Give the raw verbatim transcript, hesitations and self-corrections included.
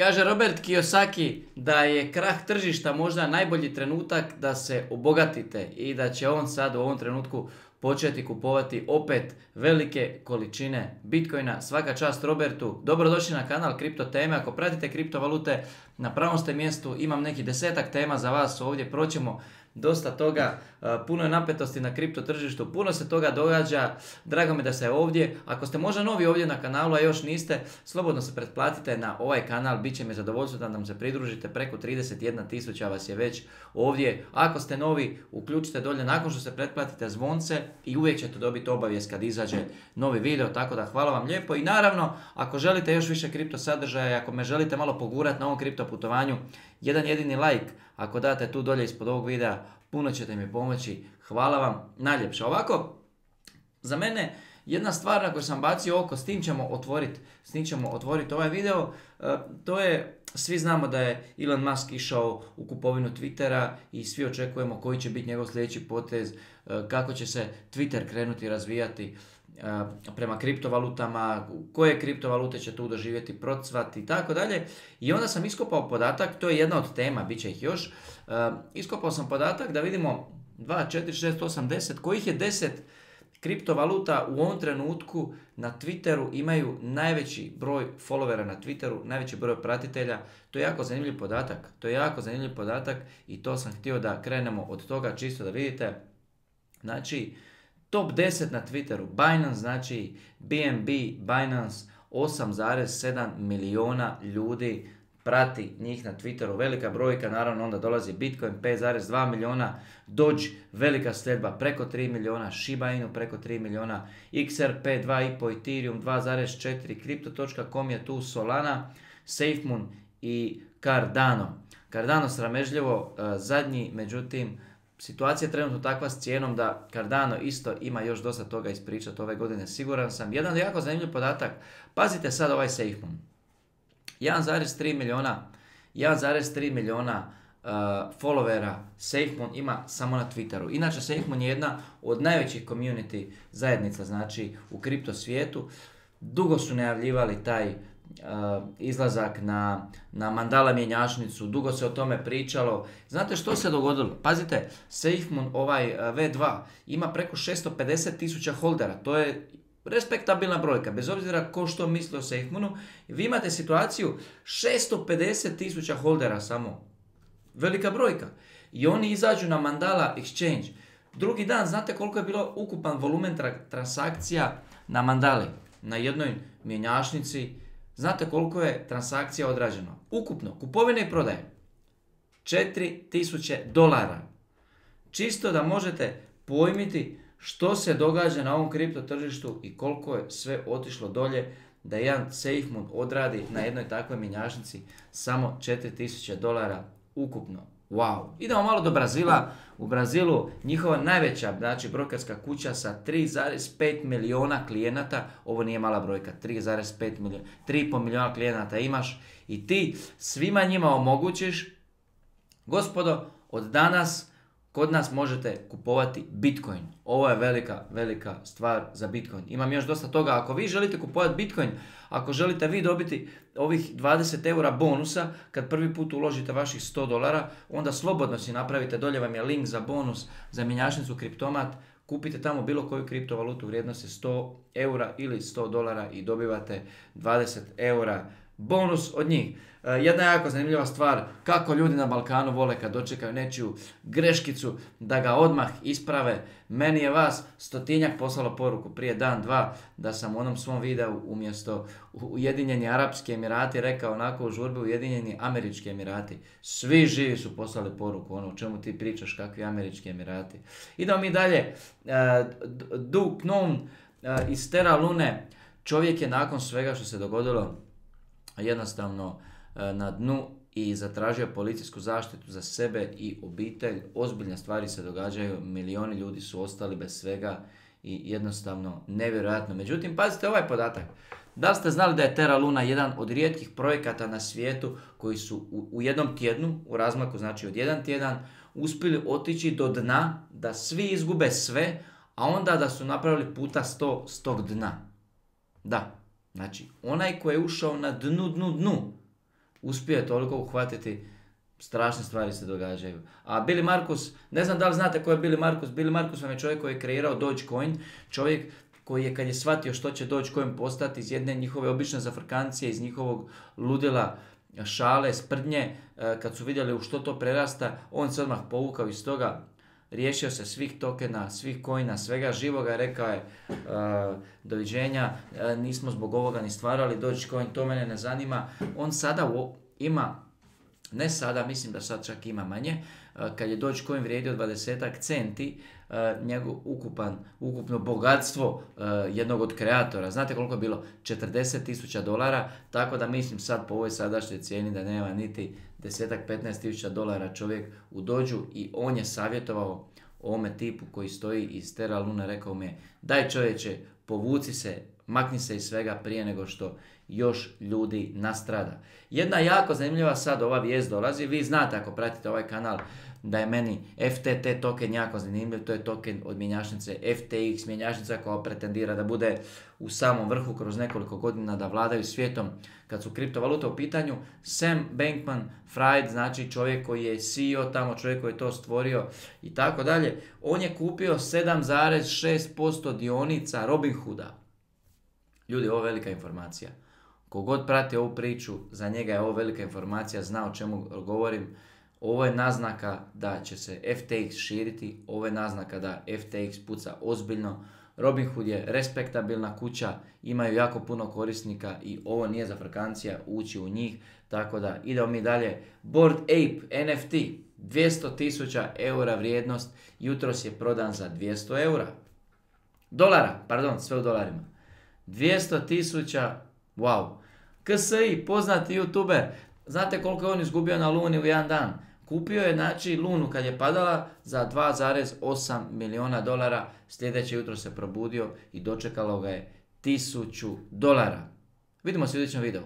Kaže Robert Kiyosaki da je krah tržišta možda najbolji trenutak da se obogatite i da će on sad u ovom trenutku početi kupovati opet velike količine Bitcoina. Svaka čast Robertu. Dobrodošli na kanal Kripto teme. Ako pratite kriptovalute, na pravom ste mjestu. Imam neki desetak tema za vas ovdje. Proćemo dosta toga. Puno je napetosti na kripto tržištu. Puno se toga događa. Drago mi da ste ovdje. Ako ste možda novi ovdje na kanalu, a još niste, slobodno se pretplatite na ovaj kanal. Biće mi zadovoljstvo da nam se pridružite. Preko trideset jedna tisuća vas je već ovdje. Ako ste novi, uključite dolje nakon što se pretplatite zvonce i uvijek ćete dobiti obavijest kad izađe novi video. Tako da hvala vam lijepo. I naravno, ako želite još više kripto sadržaja, ako me želite malo pogurati na ovom kripto putovanju, jedan jedini like, ako date tu dolje ispod ovog videa, puno ćete mi pomoći. Hvala vam najljepše. Ovako, za mene jedna stvar na koju sam bacio oko, s tim ćemo otvoriti, s tim ćemo otvoriti ovaj video, to je, svi znamo da je Elon Musk išao u kupovinu Twittera i svi očekujemo koji će biti njegov sljedeći potez, kako će se Twitter krenuti razvijati prema kriptovalutama, koje kriptovalute će tu doživjeti procvat i tako dalje. I onda sam iskopao podatak, to je jedna od tema, bit će ih još, iskopao sam podatak da vidimo dva, četiri, šest, osam, deset, kojih je deset kriptovaluta u ovom trenutku na Twitteru imaju najveći broj followera na Twitteru, najveći broj pratitelja. To je jako zanimljiv podatak, to je jako zanimljiv podatak i to sam htio da krenemo od toga čisto da vidite. Znači, top deset na Twitteru, Binance, znači B N B, Binance, osam zarez sedam milijuna ljudi prati njih na Twitteru, velika brojka, naravno onda dolazi Bitcoin, pet zarez dva milijuna, Doge, velika sljedba, preko tri milijuna, Shiba Inu, preko tri milijuna, X R P dva i pol, Ethereum dva zarez četiri, Crypto točka com je tu, Solana, SafeMoon i Cardano. Cardano sramežljivo uh, zadnji, međutim, situacija je trenutno takva s cijenom da Cardano isto ima još dosta toga ispričati ove godine, siguran sam. Jedan jako zanimljiv podatak, pazite sad ovaj SafeMoon. jedan zarez tri milijuna, jedan zarez tri milijuna uh, followera SafeMoon ima samo na Twitteru. Inače, SafeMoon je jedna od najvećih community zajednica, znači u kripto svijetu. Dugo su najavljivali taj uh, izlazak na, na Mandala mjenjačnicu, dugo se o tome pričalo. Znate što se dogodilo? Pazite, SafeMoon ovaj uh, V dva ima preko šesto pedeset tisuća holdera, to je respektabilna brojka, bez obzira ko što misli o SafeMoonu. Vi imate situaciju šesto pedeset tisuća holdera samo. Velika brojka. I oni izađu na Mandala Exchange. Drugi dan, znate koliko je bilo ukupan volumen tra- transakcija na Mandali? Na jednoj mjenjačnici. Znate koliko je transakcija odrađeno? Ukupno, kupovine i prodaje. četiri tisuće dolara. Čisto da možete pojmiti što se događa na ovom kripto tržištu i koliko je sve otišlo dolje da jedan SafeMoon odradi na jednoj takvoj mjenjačnici samo četiri tisuće dolara ukupno. Wow. Idemo malo do Brazila. U Brazilu njihova najveća, znači brokerska kuća sa tri zarez pet milijuna klijenata, ovo nije mala brojka, tri zarez pet milijuna, tri i pol milijuna klijenata imaš i ti svima njima omogućiš, gospodo, od danas kod nas možete kupovati Bitcoin. Ovo je velika, velika stvar za Bitcoin. Imam još dosta toga. Ako vi želite kupovati Bitcoin, ako želite vi dobiti ovih dvadeset eura bonusa, kad prvi put uložite vaših sto dolara, onda slobodno si napravite, dolje vam je link za bonus, za mjenjačnicu Kriptomat, kupite tamo bilo koju kriptovalutu vrijednosti sto eura ili sto dolara i dobivate dvadeset eura bonus od njih. Jedna jako zanimljiva stvar, kako ljudi na Balkanu vole kad dočekaju nečiju greškicu da ga odmah isprave. Meni je vas stotinjak poslalo poruku prije dan, dva, da sam u onom svom videu umjesto Ujedinjeni Arapski Emirati rekao onako u žurbi Ujedinjeni Američki Emirati. Svi živi su poslali poruku, ono o čemu ti pričaš, kakvi Američki Emirati. Idemo mi dalje. Duke Nunn iz Terra Lune, čovjek je nakon svega što se dogodilo jednostavno na dnu i zatražio policijsku zaštitu za sebe i obitelj. Ozbiljne stvari se događaju, milioni ljudi su ostali bez svega i jednostavno nevjerojatno. Međutim, pazite ovaj podatak. Da li ste znali da je Terra Luna jedan od rijetkih projekata na svijetu koji su u, u jednom tjednu, u razmaku znači od jedan tjedan, uspjeli otići do dna, da svi izgube sve, a onda da su napravili puta sto s tog dna. Da, znači onaj koji je ušao na dnu, dnu, dnu, uspio je toliko uhvatiti, strašne stvari se događaju. A Billy Markus, ne znam da li znate ko je Billy Markus, Billy Markus vam je čovjek koji je kreirao Dogecoin, čovjek koji je kad je shvatio što će Dogecoin postati iz jedne njihove obične zafrkancije, iz njihovog ludila, šale, sprdnje, kad su vidjeli u što to prerasta, on se odmah povukao iz toga, riješio se svih tokena, svih coina, svega živoga, rekao je uh, doviđenja, uh, nismo zbog ovoga ni stvarali Dogecoin, to mene ne zanima. On sada u, ima, ne sada, mislim da sad čak ima manje, uh, kad je Dogecoin vrijedio dvadesetak centi, uh, njegov ukupan, ukupno bogatstvo uh, jednog od kreatora, znate koliko je bilo? četrdeset tisuća dolara, tako da mislim sad po ovoj sadašnjoj cijeni da nema niti desetak, petnaest tisuća dolara čovjek u dođu i on je savjetovao ovome tipu koji stoji iz Terra Lune, rekao mi je, daj čovječe, povuci se, makni se iz svega prije nego što još ljudi nastrada. Jedna jako zanimljiva sad ova vijest dolazi, vi znate ako pratite ovaj kanal da je meni F T T token jako zanimljiv, to je token od mjenjačnice F T X, mjenjačnica koja pretendira da bude u samom vrhu kroz nekoliko godina, da vladaju svijetom kad su kriptovalute u pitanju. Sam Bankman-Fried, znači čovjek koji je C E O tamo, čovjek koji je to stvorio i tako dalje, on je kupio sedam zarez šest posto dionica Robinhooda. Ljudi, ovo je velika informacija. Kogod prati ovu priču, za njega je ovo velika informacija, zna o čemu govorim. Ovo je naznaka da će se F T X širiti, ovo je naznaka da F T X puca ozbiljno. Robinhood je respektabilna kuća, imaju jako puno korisnika i ovo nije zafrkancija ući u njih, tako da idemo mi dalje. Bored Ape N F T, dvjesto tisuća eura vrijednost, jutros je prodan za dvjesto eura. Dolara, pardon, sve u dolarima. dvjesto tisuća, wow. K S I, poznati youtuber, znate koliko je on izgubio na Luni u jedan dan? Kupio je, znači, Lunu kad je padala za dva zarez osam milijuna dolara, sljedeće jutro se probudio i dočekalo ga je tisuću dolara. Vidimo se u sljedećem videu.